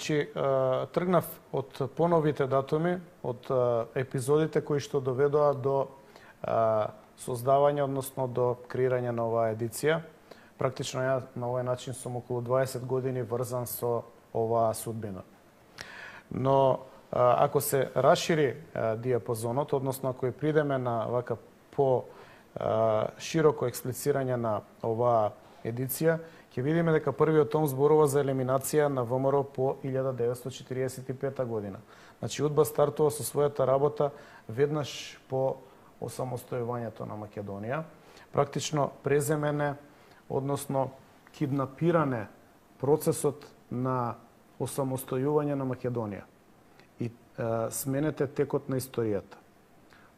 Значи, тргнав од поновите датуми, од епизодите кои што доведоа до создавање, односно до креирање на оваа едиција. Практично ја на овој начин сум околу 20 години врзан со оваа судбина. Но ако се расшири диапазонот, односно ако придеме на вака по широко експлицирање на оваа едиција, ќе видиме дека првиот том зборува за елиминација на ВМРО по 1945 година. Значи, УДБА стартува со својата работа веднаш по осамостојувањето на Македонија. Практично преземене, односно киднапиране процесот на осамостојување на Македонија и сменете текот на историјата.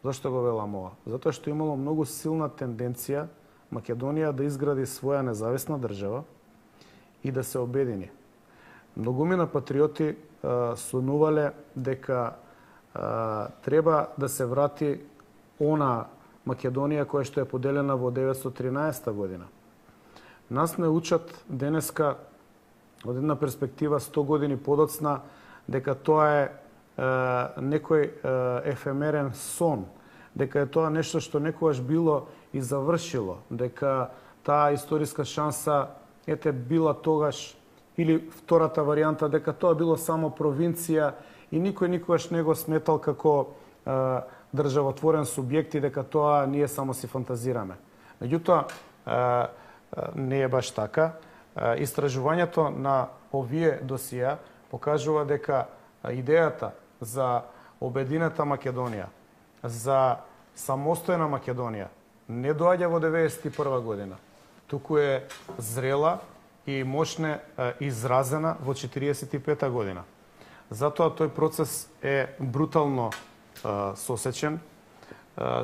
Зашто го велам ова? Затоа што имало многу силна тенденција Македонија да изгради своја независна држава и да се обедини. Многумина патриоти сонувале дека треба да се врати она Македонија која што е поделена во 1913 година. Нас не учат денеска од една перспектива 100 години подоцна дека тоа е некој ефемерен сон, дека е тоа нешто што некогаш било и завршило, дека таа историска шанса била тогаш, или втората варијанта, дека тоа било само провинција и никој никогаш не го сметал како државотворен субјект и дека тоа ние само си фантазираме. Меѓутоа, не е баш така. Истражувањето на овие досија покажува дека идејата за обединета Македонија, за самостојна Македонија, не доаѓа во 1991 година, туку е зрела и мощне изразена во 1945 година. Затоа тој процес е брутално сосечен.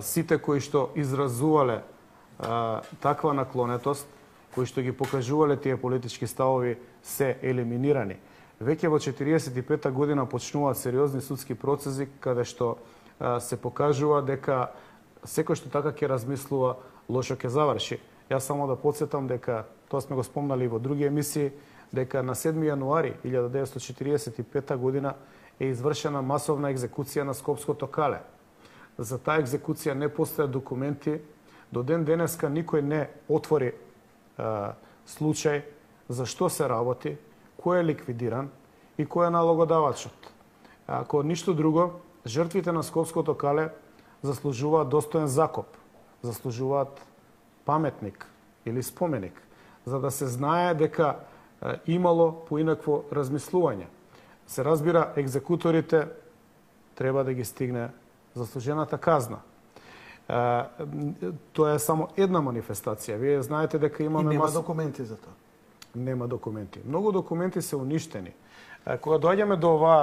Сите кои што изразувале таква наклонетост, кои што ги покажувале тие политички ставови, се елиминирани. Веќе во 1945 година почнуваат сериозни судски процеси каде што се покажува дека секој што така ќе размислува, лошо ќе заврши. Јас само да подсетам дека, тоа сме го спомнали и во други емисии, дека на 7 јануари 1945 година е извршена масовна екзекуција на Скопското кале. За таа екзекуција не постојат документи. До ден денеска никој не отвори случај за што се работи, кој е ликвидиран и кој е налогодавачот. Ако ништо друго, жртвите на Скопското кале заслужуваат достоен закоп, заслужуваат паметник или споменик, за да се знае дека имало поинакво размислување. Се разбира, екзекуторите треба да ги стигне заслужената казна. Тоа е само една манифестација. Вие знаете дека имаме... И нема документи за тоа? Нема документи. Многу документи се уништени. Кога доаѓаме до оваа